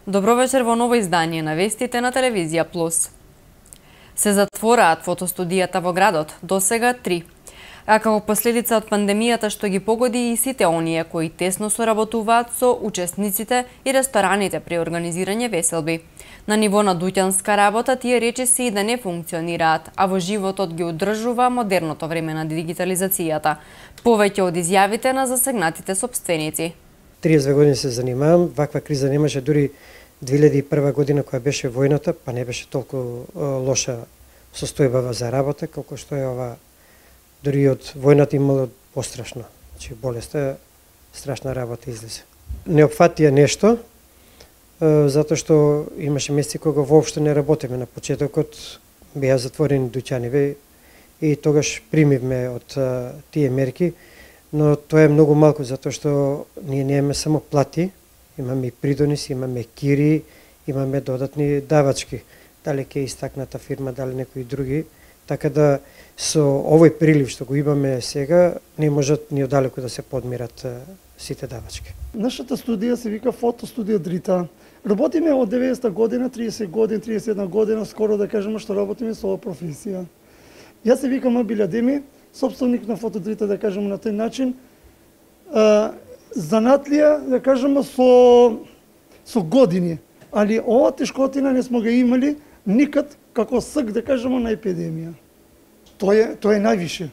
Добро вечер во ново издание на вестите на Телевизија Плюс. Се затвораат фотостудијата во градот, досега 3. А како последица од пандемијата што ги погоди и сите оние кои тесно соработуваат со учесниците и рестораните при организирање веселби. На ниво на дуќанска работа тие речиси и да не функционираат, а во животот ги одржува модерното време на дигитализацијата. Повеќе од изјавите на засегнатите сопственици. 32 години се занимавам, ваква криза немаше дури 2001 година која беше војната, па не беше толку лоша состојба за работа, колку што е ова. Дури од војната имало пострашно. Значи болеста страшна работа излезе. Не опфатија нешто, затоа што имаше месеци кога воопшто не работиме. На почетокот беа затворени дуќаниве и тогаш примивме од тие мерки, но тоа е многу малку затоа што ние немаме само плати, имаме и придониси, имаме кири, имаме додатни давачки. Дали ќе истакната фирма, дали некои други, така да со овој прилив што го имаме сега не можат ни одалеку да се подмират сите давачки. Нашата студија се вика Фотостудија Дрита. Работиме од 90-та година, 30 години, 31 година, скоро да кажеме што работиме со оваа професија. Јас се викам Абил Адеми, сопственик на Фотодрита, да кажеме на тој начин. Занатлија, да кажеме, со години. Али ова тешкотина не сме га имали никад како ск, да кажеме, на епидемија. Тоа е највише.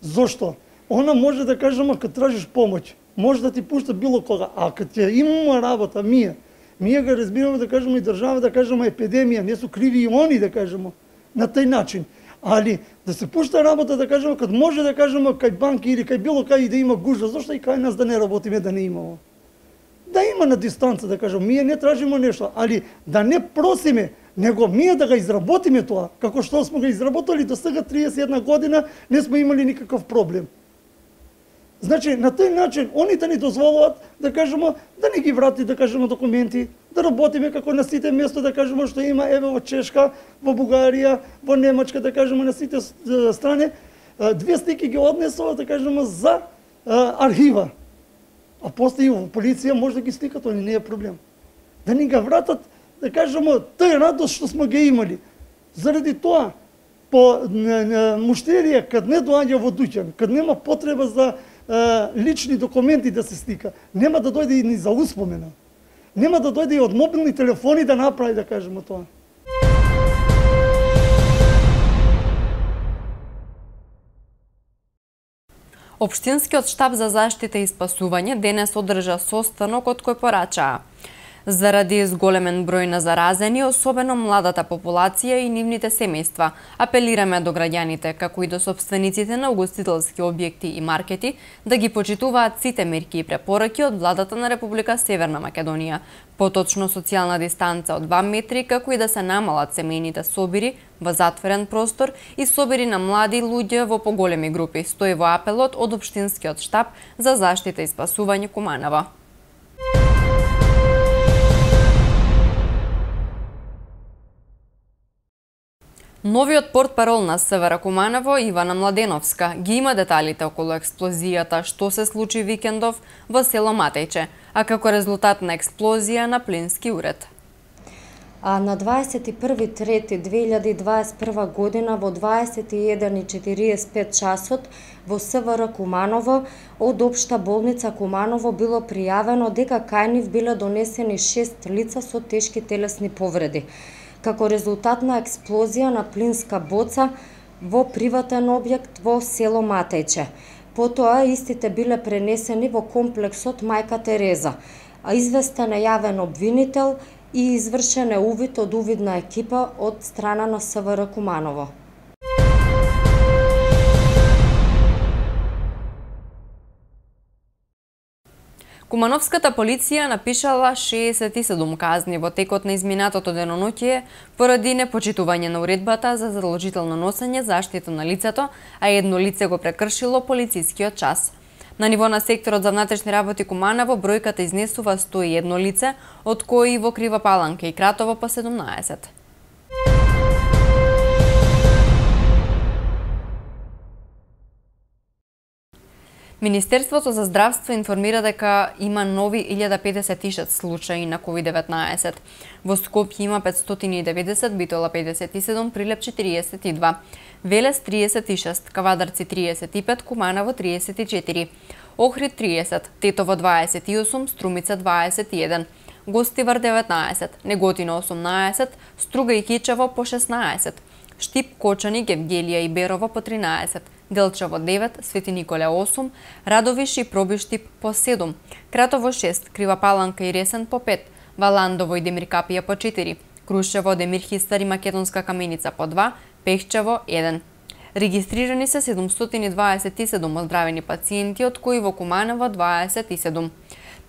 Зошто? Она може да кажеме, кога тражиш помоќ, може да ти пушта било кога, а кога ќе имаме работа, ние го разбираме, да кажеме, и држава, да кажеме, епидемија, не су криви и они, да кажеме, на тој начин. Али да се пушта работа, да кажеме, кога може да кажеме кај банки или кај било кај да има гужва, зошто и кај нас да не работиме, да не имамо? Да има на дистанца, да кажеме, ние не тражиме нешто, али да не просиме, него ние да го изработиме тоа, како што сме го изработали до сега 31 година, не сме имали никаков проблем. Значи, на тој начин, они да ни дозволуваат, да кажеме, да не ги врати, да кажеме, документи, да работиме како на сите место, да кажеме, што има, еве во Чешка, во Бугарија, во Немачка, да кажеме, на сите страни, 2 слики ги однесува, да кажеме, за архива. А после и во полиција може да ги сликат, они не е проблем. Да ни ga вратат, да кажеме, тој радост што сме ги имали. Заради тоа, по муштерија, кад не доаѓа во дуќан, кад нема потреба за лични документи да се слика, нема да дојде и ни за успомена. Нема да дојде и од мобилни телефони да направи, да кажеме тоа. Општинскиот штаб за заштита и спасување денес одржа состанок од кој порачаа. Заради зголемен број на заразени, особено младата популација и нивните семејства, апелираме до граѓаните, како и до сопствениците на угостителски објекти и маркети, да ги почитуваат сите мерки и препораки од владата на Република Северна Македонија, поточно социјална дистанца од 2 метри, како и да се намалат семејните собири во затворен простор и собири на млади луѓе во поголеми групи, стои во апелот од Општинскиот штаб за заштита и спасување Куманово. Новиот портпарол на СВР Куманово, Ивана Младеновска, ги има деталите околу експлозијата што се случи викендов во село Матејче, а како резултат на експлозија на плински уред. На 21.3.2021 година во 21:45 часот во СВР Куманово од Општа болница Куманово било пријавено дека кај нив биле донесени 6 лица со тешки телесни повреди, како резултат на експлозија на плинска боца во приватен објект во село Матејче. Потоа истите биле пренесени во комплексот Мајка Тереза, а известен е јавен обвинител и извршен е увид од увидна екипа од страна на СВР Куманово. Кумановската полиција напишала 67 казни во текот на изминатото деноноќие поради непочитување на уредбата за задолжително носење заштита на лицето, а едно лице го прекршило полицискиот час. На ниво на секторот за внатрешни работи Куманово бројката изнесува 101 лице, од кои во Крива Паланка и Кратово по 17. Министерството за здравство информира дека има нови 1056 случаи на COVID-19. Во Скопје има 590, Битола 57, Прилеп 42, Велес 36, Кавадарци 35, Куманово 34, Охрид 30, Тетово 28, Струмица 21, Гостивар 19, Неготино 18, Струга и Кичево по 16, Штип, Кочани, Гевгелија и Берово по 13, Делчево 9, Свети Николе 8, Радовиш и Пробиштип по 7, Кратово 6, Крива Паланка и Ресен по 5, Валандово и Демиркапија по 4, Крушево, Демирхистар и Македонска Каменица по 2, Пехчево 1. Регистрирани се 727 оздравени пациенти, од кои во Куманово 27.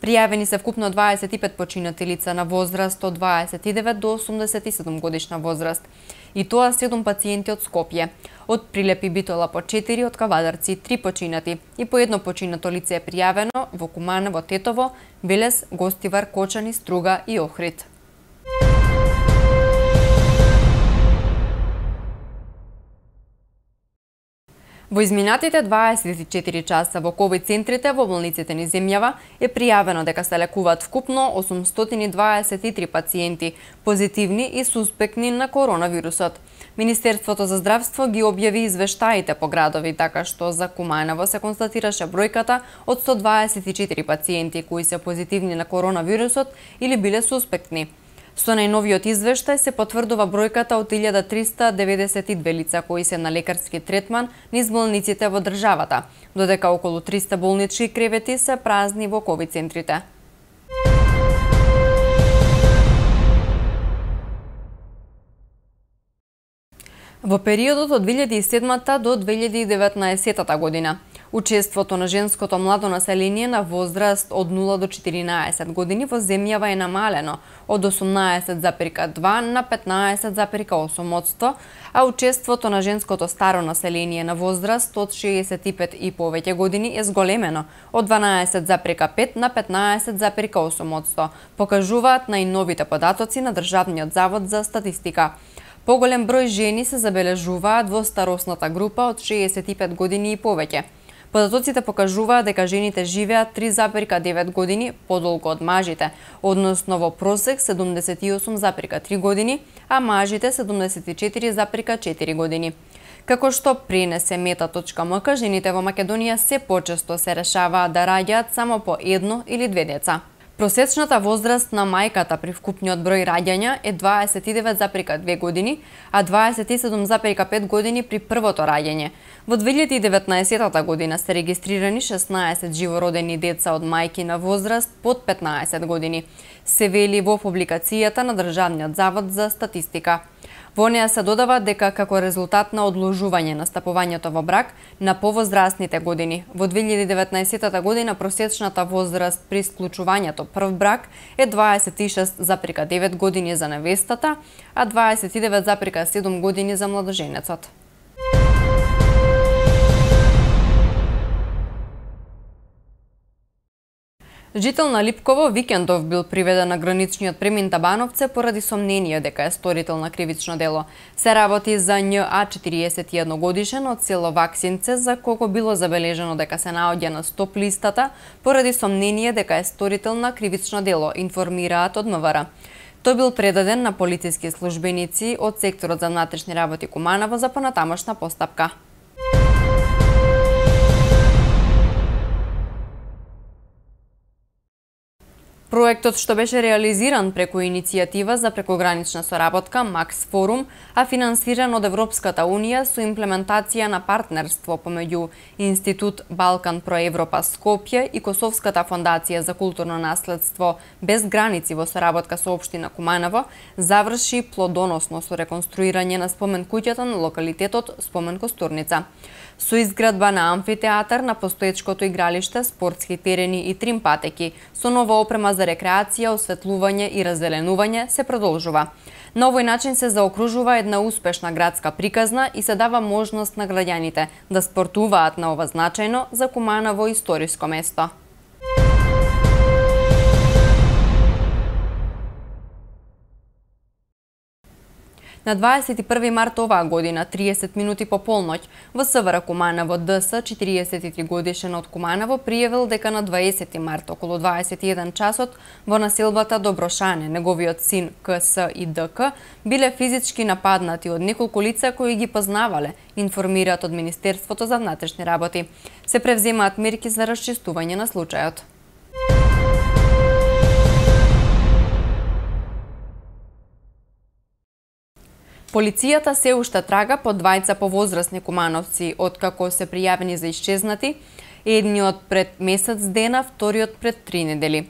Пријавени се вкупно 25 починати лица на возраст од 29 до 87 годишна возраст. И тоа 7 пациенти од Скопје. Од Прилеп и Битола по 4, од Кавадарци 3 починати и по едно починато лице е пријавено во Куманово, Тетово, Велес, Гостивар, Кочани, Струга и Охрид. Во изминатите 24 часа во ковид центрите во болниците низ земјава е пријавено дека се лекуваат вкупно 823 пациенти позитивни и суспектни на коронавирусот. Министерството за здравство ги објави извештаите по градови, така што за Куманово се констатираше бројката од 124 пациенти кои се позитивни на коронавирусот или биле суспектни. Со најновиот извештај се потврдува бројката од 1392 лица кои се на лекарски третман низ болниците во државата, додека околу 300 болнички кревети се празни во ковид центрите. Во периодот од 2007 до 2019 година, учеството на женското младо население на возраст од 0 до 14 години во земјава е намалено од 18,2 на 15,8%, а учеството на женското старо население на возраст од 65 и повеќе години е зголемено од 12,5 на 15,8%, покажуваат најновите податоци на Државниот завод за статистика. Поголем број жени се забележуваат во старосната група од 65 години и повеќе. Податоците покажуваат дека жените живеат 3,9 години подолго од мажите, односно во просек 78,3 години, а мажите 74,4 години. Како што пренесе Meta.mk, жените во Македонија се почесто се решаваат да раѓаат само по едно или две деца. Просечната возраст на мајката при вкупниот број раѓања е 29,2 години, а 27,5 години при првото раѓање. Во 2019 година се регистрирани 16 живородени деца од мајки на возраст под 15 години, се вели во публикацијата на Државниот завод за статистика. Во неа се додава дека како резултат на одложување на стапувањето во брак на повозрастните години, во 2019 година просечната возраст при склучувањето прв брак е 26,9 години за невестата, а 29,7 години за младоженецот. Жител на Липково Викендов бил приведен на граничниот премин Табановце поради сомнение дека е сторител на кривично дело. Се работи за њА 41 годишен од село Ваксинце, за кого било забележено дека се наоѓа на стоп листата поради сомнение дека е сторител на кривично дело, информираат од МВР. Тој бил предаден на полициски службеници од секторот за внатрешни работи Куманово за понатамошна постапка. Проектот, што беше реализиран преку иницијатива за прекогранична соработка Макс Форум, а финансиран од Европската Унија со имплементација на партнерство помеѓу Институт Балкан про Европа Скопје и Косовската фондација за културно наследство без граници во соработка со општина Куманово, заврши плодоносно со реконструирање на спомен куќата на локалитетот Спомен Костурница. Со изградба на амфитеатар на постоечкото игралиште, спортски терени и трим патеки, со нова опрема за рекреација, осветлување и раззеленување се продолжува. На овој начин се заокружува една успешна градска приказна и се дава можност на граѓаните да спортуваат на ова значајно за Куманово историско место. На 21 март оваа година, 30 минути по полноќ, во СВР Куманово ДС, 43 годишен од Куманово, пријавил дека на 20 март околу 21 часот во населбата Доброшане, неговиот син КС и ДК биле физички нападнати од неколку лица кои ги познавале, информираат од Министерството за внатрешни работи. Се превземаат мерки за расчистување на случајот. Полицијата се уште трага по двајца повозрасни кумановци, откако се пријавени за исчезнати, едниот пред месец дена, вториот пред 3 недели.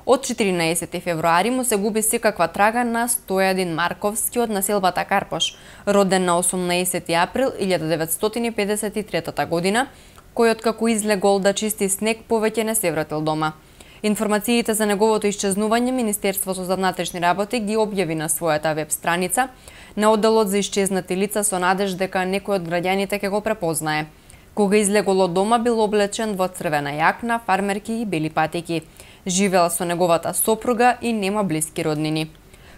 Од 14 февруари му се губи секаква трага на Стојадин Марковски од населбата Карпош, роден на 18 април 1953 година, кој откако излегол да чисти снег повеќе не се вратил дома. Информациите за неговото исчезнување Министерството за внатрешни работи ги објави на својата веб страница на одделот за исчезнати лица со надеж дека некој од граѓаните ќе го препознае. Кога излегол од дома бил облечен во црвена јакна, фармерки и бели патики. Живеел со неговата сопруга и нема блиски роднини.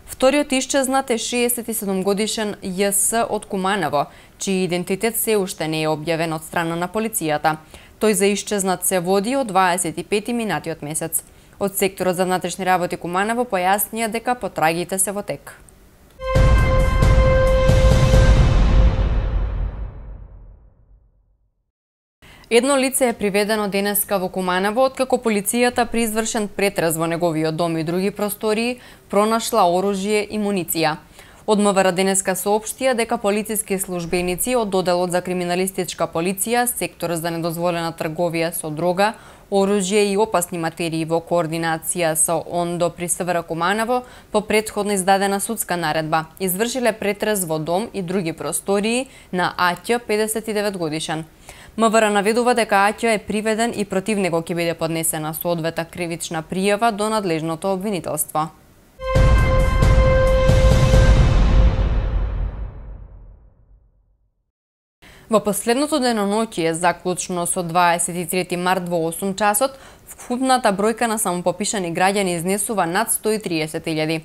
Вториот исчезнат е 67 годишен ЈС од Куманово, чиј идентитет се уште не е објавен од страна на полицијата. Тој за исчезнат се води од 25 минатиот месец. Од секторот за внатрешни работи Куманово појаснија дека потрагите се во тек. Едно лице е приведено денеска во Куманово, откако полицијата при извршен претрез во неговиот дом и други простории пронашла оружје и муниција. Од МВР денеска соопштија дека полициски службеници од одделот за криминалистичка полиција, сектор за недозволена трговија со дрога, оружје и опасни материи во координација со ОНДО при СВР Куманово по претходно издадена судска наредба извршиле претрез во дом и други простории на Аќ 59 годишен. МВР наведува дека Аќ е приведен и против него ќе биде поднесена соодветна кривична пријава до надлежното обвинителство. Во последното деноноќие, заклучно со 23 март во 8 часот, вкупната бројка на самопопишани граѓани изнесува над 130.000.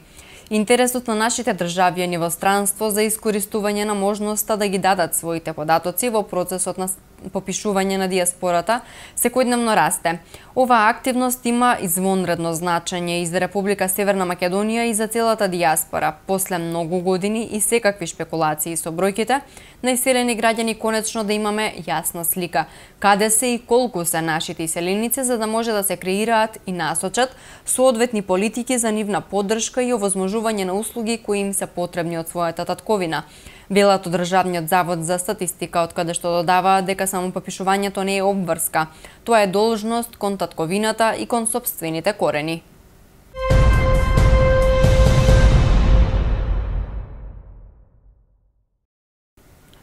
Интересот на нашите државјани во странство за искористување на можноста да ги дадат своите податоци во процесот на попишување на диаспората секојдневно расте. Оваа активност има извонредно значење и за Република Северна Македонија и за целата диаспора. После многу години и секакви шпекулации со бројките, најселени граѓани конечно да имаме јасна слика каде се и колку се нашите иселеници, за да може да се креираат и насочат соодветни политики за нивна поддршка и овозможување на услуги кои им се потребни од својата татковина. Велат од Државниот завод за статистика, од каде што додава дека самопопишувањето не е обврска. Тоа е должност кон татковината и кон сопствените корени.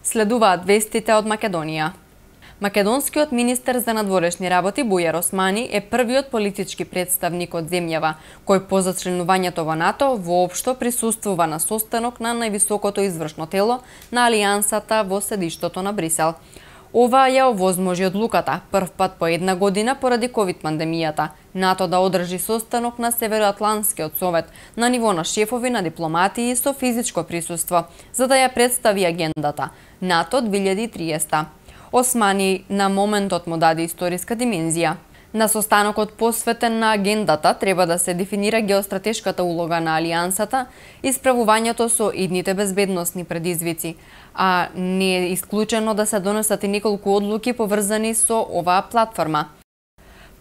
Следуваат вестите од Македонија. Македонскиот министер за надворешни работи Бујар Османи е првиот политички представник од земјава кој по зачленувањето во НАТО воопшто присуствува на состанок на највисокото извршно тело на Алијансата во седиштото на Брисел. Ова ја овозможи одлуката, прв пат по една година поради ковид пандемијата, НАТО да одржи состанок на Североатлантскиот совет на ниво на шефови на дипломатии со физичко присуство, за да ја представи агендата НАТО 2030. Османи на моментот му даде историска димензија. На состанокот посветен на агендата треба да се дефинира геостратешката улога на Алијансата и справувањето со идните безбедносни предизвици, а не е исклучено да се донесат и неколку одлуки поврзани со оваа платформа.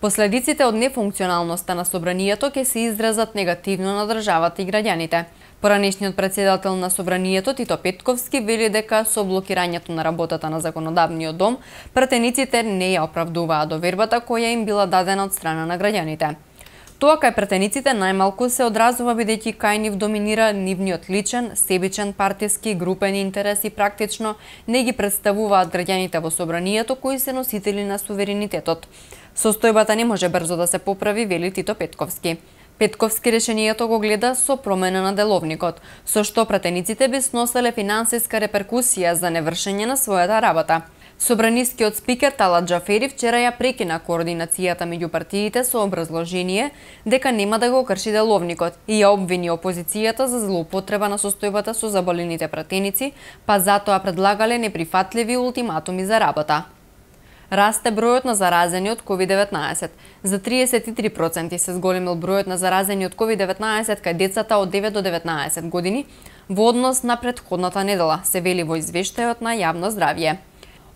Последиците од нефункционалноста на собранието ќе се изразат негативно на државата и граѓаните. Поранешниот председател на собранието Тито Петковски вели дека со блокирањето на работата на законодавниот дом, претениците не ја оправдуваа довербата која им била дадена од страна на граѓаните. Тоа кај претениците најмалку се одразува бидејќи кај нив доминира нивниот личен, себичен, партиски, групен интерес и практично не ги представуваат граѓаните во собранието кои се носители на суверенитетот. Состојбата не може брзо да се поправи, вели Тито Петковски. Петковски решението го гледа со промена на деловникот, со што пратениците би сноселе финансиска реперкусија за невршење на својата работа. Собранискиот спикер Талат Џафери вчера ја прекина координацијата меѓу партиите со образложение дека нема да го крши деловникот и ја обвини опозицијата за злоупотреба на состојбата со заболените пратеници, па затоа предлагале неприфатливи ултиматуми за работа. Расте бројот на заразени од COVID-19. За 33% се зголемил бројот на заразени од COVID-19 кај децата од 9 до 19 години во однос на претходната недела, се вели во извештајот на Јавно здравје.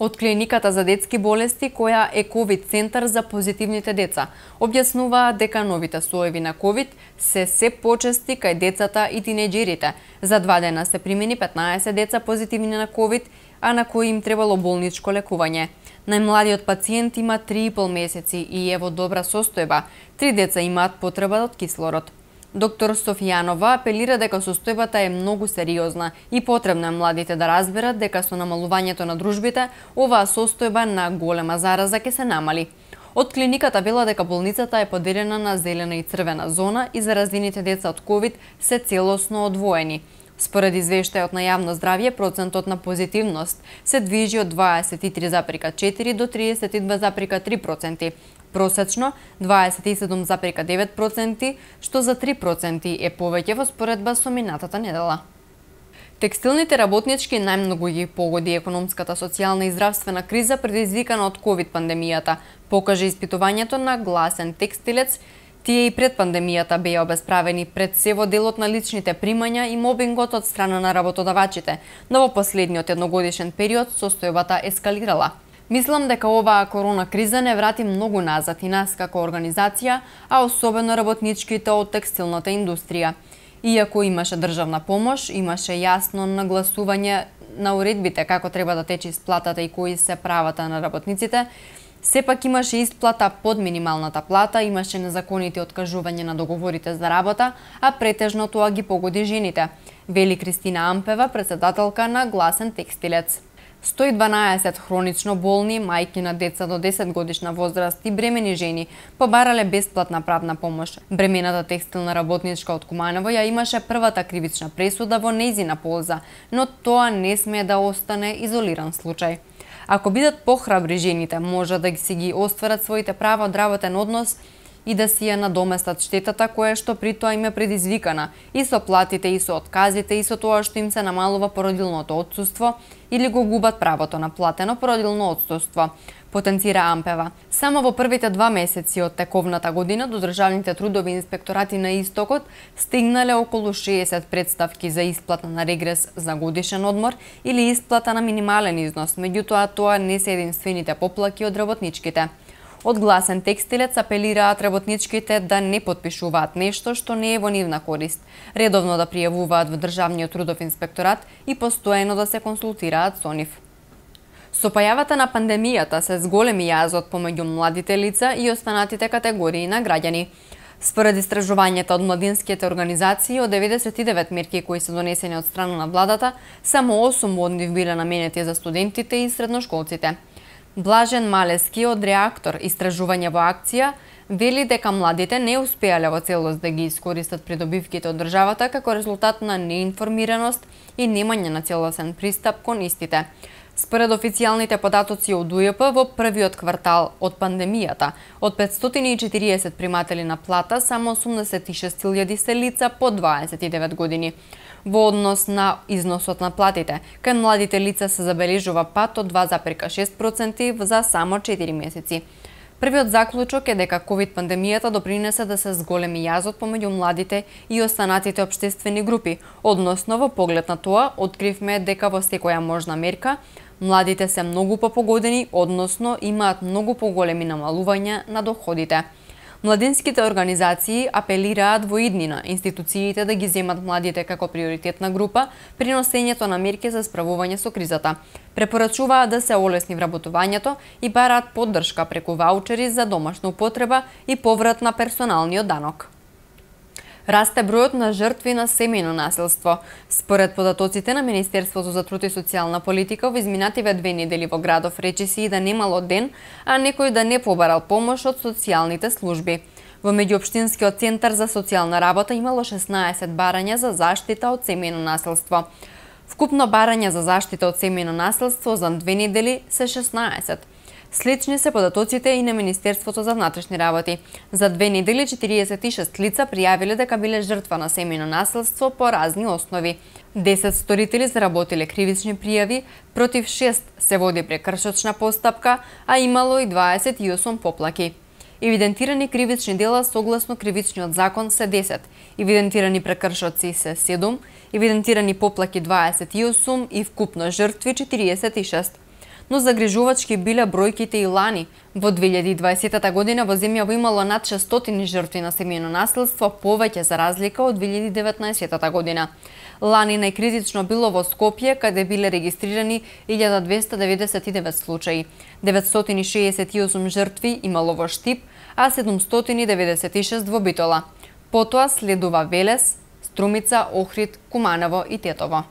Од клиниката за детски болести, која е COVID центар за позитивните деца, објаснуваат дека новите соеви на COVID се почести кај децата и тинеџерите. За 2 дена се примени 15 деца позитивни на COVID, а на кои им требало болничко лекување. Најмладиот пациент има 3,5 месеци и е во добра состојба. 3 деца имаат потреба од кислород. Доктор Софијанова апелира дека состојбата е многу сериозна и потребно е младите да разберат дека со намалувањето на дружбите, оваа состојба на голема зараза ќе се намали. Од клиниката вела дека болницата е поделена на зелена и црвена зона и заразените деца од COVID се целосно одвоени. Според извештајот на Јавно здравје, процентот на позитивност се движи од 23,4 до 32,3%. Просечно 27,9%, што за 3% е повеќе во споредба со минатата недела. Текстилните работнички најмногу ги погоди економската, социјална и здравствена криза предизвикана од COVID пандемијата, покаже испитувањето на Гласен текстилец. Тие и пред пандемијата беа обесправени пред се во делот на личните примања и мобингот од страна на работодавачите, но во последниот едногодишен период состојбата ескалирала. Мислам дека оваа корона криза не врати многу назад и нас како организација, а особено работничките од текстилната индустрија. Иако имаше државна помош, имаше јасно нагласување на уредбите како треба да тече исплатата и кои се правата на работниците, сепак имаше исплата под минималната плата, имаше незаконити откажување на договорите за работа, а претежно тоа ги погоди жените, вели Кристина Ампева, председателка на Гласен текстилец. 112 хронично болни, мајки на деца до 10 годишна возраст и бремени жени побарале бесплатна правна помош. Бремената текстилна работничка од Куманово ја имаше првата кривична пресуда во нејзина полза, но тоа не смее да остане изолиран случај. Ако бидат похрабри жените, може да си ги остварат своите права од работен однос и да си ја надоместат штетата која што при тоа им е предизвикана и со платите, и со отказите, и со тоа што им се намалува породилното отсуство или го губат правото на платено породилно отсуство, потенцира Ампева. Само во првите 2 месеци од тековната година до државните трудови инспекторати на Истокот стигнале околу 60 представки за исплата на регрес за годишен одмор или исплата на минимален износ, меѓутоа тоа не се единствените поплаки од работничките. Од Гласен текстилец апелираат работничките да не потпишуваат нешто што не е во нивна корист, редовно да пријавуваат во Државниот трудов инспекторат и постојано да се консултираат со нив. Со појавата на пандемијата се зголеми јазот помеѓу младите лица и останатите категории на граѓани. Според истражувањата од младинските организации, од 99 мерки кои се донесени од страна на владата, само 8 од нив биле наменети за студентите и средношколците. Блажен Малески од Реактор истражување во акција вели дека младите не успеале во целост да ги искористат придобивките од државата како резултат на неинформираност и немање на целосен пристап кон истите. Според официјалните податоци од УЈП во првиот квартал од пандемијата, од 540 приматели на плата, само 86.000 се лица по 29 години. Во однос на износот на платите, кај младите лица се забележува пат од 2,6% за само 4 месеци. Првиот заклучок е дека COVID пандемијата допринесе да се зголеми јазот помеѓу младите и останатите општествени групи. Односно, во поглед на тоа, откривме дека во секоја можна мерка, младите се многу попогодени, односно имаат многу поголеми намалувања на доходите. Младинските организации апелираат во иднина институциите да ги земат младите како приоритетна група при носењето на мерки за справување со кризата. Препорачуваат да се олесни вработувањето и бараат поддршка преку ваучери за домашна употреба и поврат на персоналниот данок. Расте бројот на жртви на семејно насилство. Според податоците на Министерството за труд и социјална политика, во изминативе 2 недели во градов речиси и да немало ден, а некој да не побарал помош од социјалните служби. Во меѓуопштинскиот центар за социјална работа имало 16 барања за заштита од семејно насилство. Вкупно барања за заштита од семејно насилство за 2 недели се 16. Слични се податоците и на Министерството за внатрешни работи. За 2 недели 46 лица пријавиле дека биле жртва на семејно насилство по разни основи. 10 сторители заработиле кривични пријави, против 6 се води прекршочна постапка, а имало и 28 поплаки. Евидентирани кривични дела согласно кривичниот закон се 10, евидентирани прекршоци се 7, евидентирани поплаки 28 и вкупно жртви 46. Но загрижувачки биле бројките и лани. Во 2020 година во земјава имало над 600 жртви на семејно насилство, повеќе за разлика од 2019 година. Лани најкритично било во Скопје, каде биле регистрирани 1299 случаи. 968 жртви имало во Штип, а 796 во Битола. Потоа следува Велес, Струмица, Охрид, Куманово и Тетово.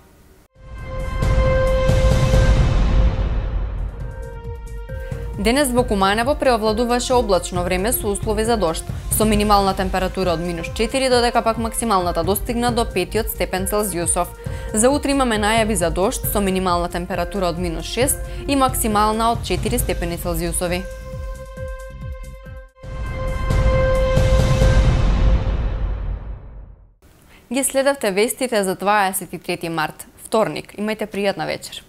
Денес во Куманово преовладуваше облачно време со услови за дожд, со минимална температура од -4 додека пак максималната достигна до 5 степен Целзиусов. За утре имаме најави за дожд со минимална температура од -6 и максимална од 4 степени Целзиусови. Ги следавте вестите за 23 март, вторник. Имајте пријатна вечер.